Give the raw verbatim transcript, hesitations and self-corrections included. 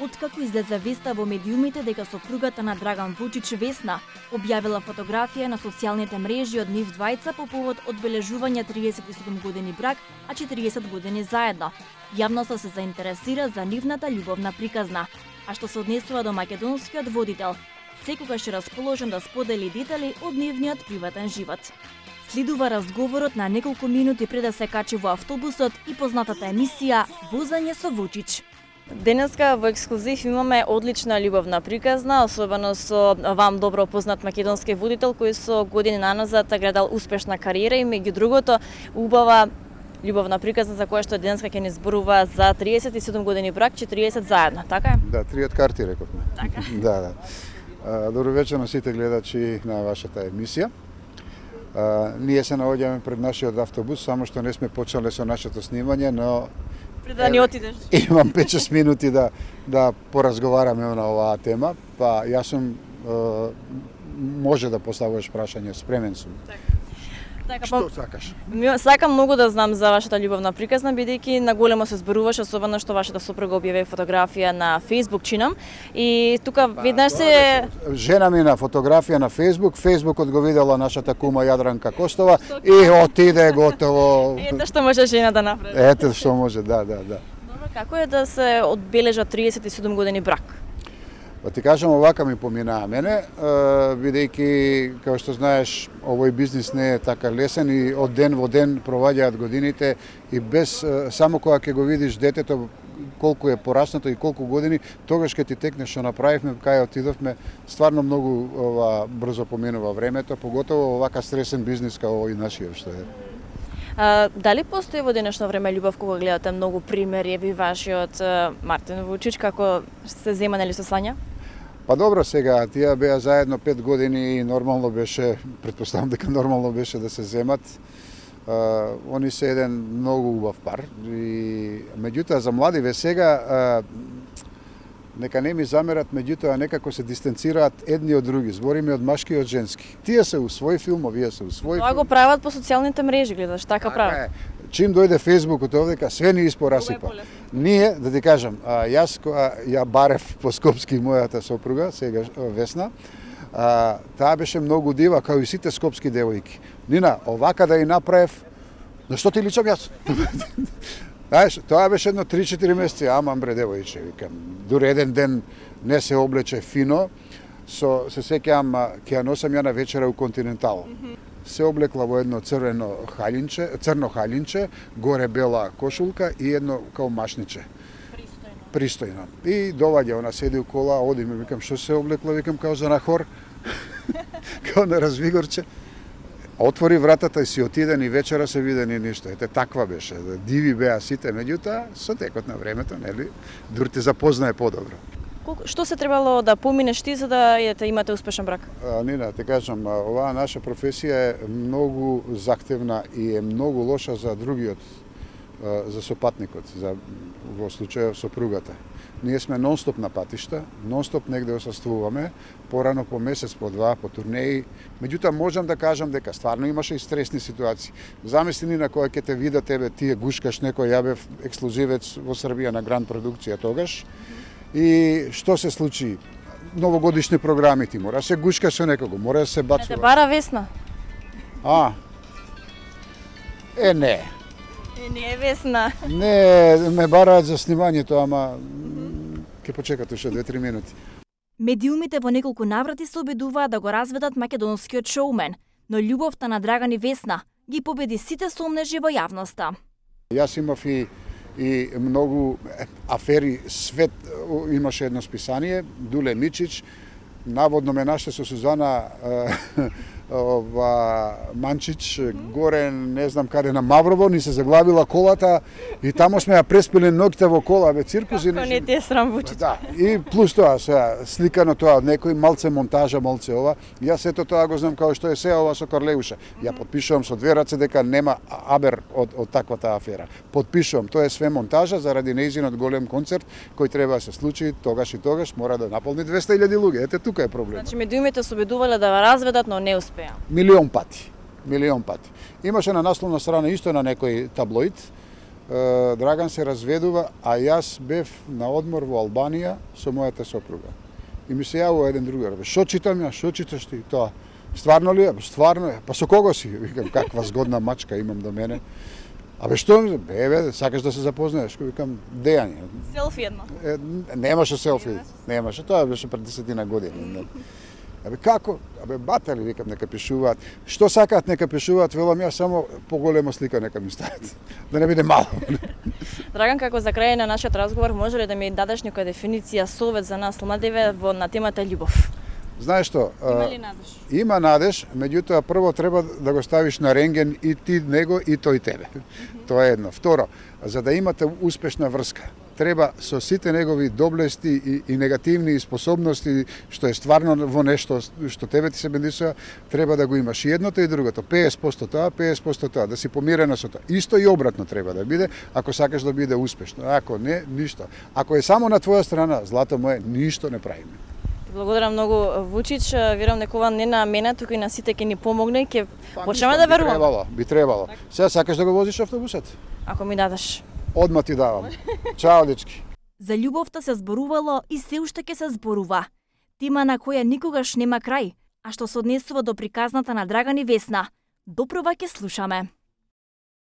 Откако излезе веста во медиумите дека сопругата на Драган Вучич Весна објавила фотографија на социјалните мрежи од нив двајца по повод одбележување триесет и седум години брак, а четириесет години заедно, јавноста се заинтересира за нивната љубовна приказна. А што се однесува до македонскиот водител, секогаш е расположен да сподели детали од нивниот приватен живот. Следува разговорот на неколку минути пред да се качи во автобусот и познатата емисија Возење со Вучич. Денеска во ексклузив имаме одлична љубовна приказна, особено со вам добро познат македонски водител кој со години наназад градал успешна кариера и меѓу другото убава љубовна приказна за која што денеска ќе ни зборува за триесет и седум години брак, четириесет заедно, така е? Да, триот карти рековме. Така. Да, да. Добро вечер на сите гледачи на вашата емисија. Uh, ние се наоѓаме пред нашиот автобус, само што не сме почнале со нашето снимање, но пред да ни отидеш. Имам пет-шест минути да да поразговараме на оваа тема, па јас сум uh, може да поставуваш прашање, спремен сум. Так. Така, Што сакаш? Сакам многу да знам за вашата љубовна приказна, бидејќи наголемо се зборуваше, особено што вашата сопруга објави фотографија на Facebook, чинам. И тука веднаш се жена ми на фотографија на Facebook, Фејсбукот го видела нашата кума Јадранка Костова и отиде готово. Ете што може жена да направи. Ете што може, да, да, да. Добро, како е да се одбележат триесет и седум години брак? Па ти кажам, овака ми поминаа мене, бидејќи, како што знаеш, овој бизнис не е така лесен и од ден во ден проваѓаат годините и без, само кога ќе го видиш детето колку е пораснато и колку години, тогаш ќе ти текне што направивме, кај отидовме, стварно многу ова брзо поминува времето, поготово овака стресен бизнис како овој нашиот што е. А, дали постои во денешно време љубов кога гледате многу примери, еви вашиот Мартин Вучич, како се зема нели со Слања? Па добро, сега, тие беа заедно пет години и нормално беше, предпоставам дека нормално беше да се земат. Uh, они се еден многу убав пар. И, меѓутоа, за младиве сега, uh, нека не ми замерат, меѓутоа некако се дистанцираат едни од други. Збориме од машки и од женски. Тие се у свој филм, овие се у свој Тоа филм. го прават по социјалните мрежи, гледаш, така прават. Чим дојде Фејсбукот овдека, све ни испорасипа. Ние, да ти кажам, а, јас кога ја барев по Скопски мојата сопруга, сега Весна, а, таа беше многу дива, као и сите скопски девојки. Нина, овака да ја направев, на што ти личам јас? Знаеш, тоа беше едно три-четири месеци, амам бре девојче, викам. Дури еден ден не се облече фино, со, се сеќавам, ќе ја носам ја на вечера у Континентал. Се облекла во едно црвено халинче, црно халинче, горе бела кошулка и едно као машниче. Пристојно. Пристојно. И доваѓа, она седи у кола, одиме, викам, што се облекла, викам, као за на хор, као на развигорче. Отвори вратата и си отиде, ни вечера се виде ни ништо. Ете, таква беше. Диви беа сите, меѓутоа, со текот на времето, нели, дур те запознае подобро. Што се требало да поминеш ти за да ете, имате успешен брак? А, Нина, те кажам, оваа наша професија е многу захтевна и е многу лоша за другиот, за сопатникот, за во случајот сопругата. Ние сме нонстоп на патишта, нонстоп негде осаствуваме, порано по месец, по два, по турнеи. Меѓутоа можам да кажам дека стварно имаше и стресни ситуации. Замисли ни на која ќе те вида тебе, тие гушкаш некој, ја бев ексклузивец во Србија на Гранд продукција тогаш. И што се случи? Новогодишни програми ти мора се гушка со некого, мора да се бацува. Те бара Весна? А? Е, не. Е, не е Весна. Не, ме бараат за снимањето, ама ќе почекате уште две-три минути. Медиумите во неколку наврати се обидуваат да го разведат македонскиот шоумен, но љубовта на Драган и Весна ги победи сите сомнежи во јавноста. Јас имав и и многу афери, свет имаше едно списание, Дуле Мичич, наводно ме наште со Сузана ова Манчич горе, не знам каде на Маврово, ни се заглавила колата и тамо сме ја преспиле ноќта во кола, бе циркус. Како не ти е срам Вучич? Да, и плюс тоа, сега, сликано тоа од некој, малце монтажа, малце ова. Јас ето тоа го знам како што е се ова со Карлеуша. Ја потпишувам со две раце дека нема абер од, од таквата афера. Потпишувам, тоа е све монтажа заради нејзинот голем концерт кој треба да се случи тогаш и тогаш, мора да наполни двеста илјади луѓе. Ете тука е проблем. Значи медиумите се обидувале да разведат, но не успеа. Милион пати. Милион пати. Имаше на насловна страна исто на некој таблоид, Драган се разведува, а јас бев на одмор во Албанија со мојата сопруга. И ми се јавува еден другар, бе, шо читам ја, шо читаш ти тоа? Стварно ли е? Стварно е. Па со кого си? Викам, каква згодна мачка имам до мене. Абе што ми? Бе, бе, сакаш да се запознаеш? Викам, Дејање. Селфи едно. Е, немаше селфи. Немаше, тоа беше пред десетина години. Абе како? Абе батали, викам, нека пишуваат. Што сакаат нека пишуваат, велам ја само поголема слика нека ми стават. Да не биде мало. Драган, како за крај на нашиот разговор, може ли да ми дадеш некоја дефиниција, совет за нас младиве во на темата љубов? Знаеш што? Има ли надеж? Има надеж, меѓутоа прво треба да го ставиш на рентген и ти него и тој тебе. Mm -hmm. Тоа е едно. Второ, за да имате успешна врска, треба со сите негови доблести и, и негативни способности, што е стварно во нешто што тебе ти се бендисува, треба да го имаш и едното и другото. песет проценти тоа, песет проценти тоа, да си помирена со тоа. Исто и обратно треба да биде, ако сакаш да биде успешно. Ако не, ништо. Ако е само на твоја страна, злато мое, ништо не правиме. Благодарам многу, Вучич. Верувам дека ова не на мене, туку и на сите ќе ни помогне, ќе почнеме да веруваме. Би требало, би требало. Сега сакаш да го возиш автобусот? Ако ми дадеш. Одма ти давам. Чао, дечки. За љубовта се зборувало и се уште ќе се зборува. Тема на која никогаш нема крај, а што се однесува до приказната на Драган и Весна. Допрва ќе слушаме.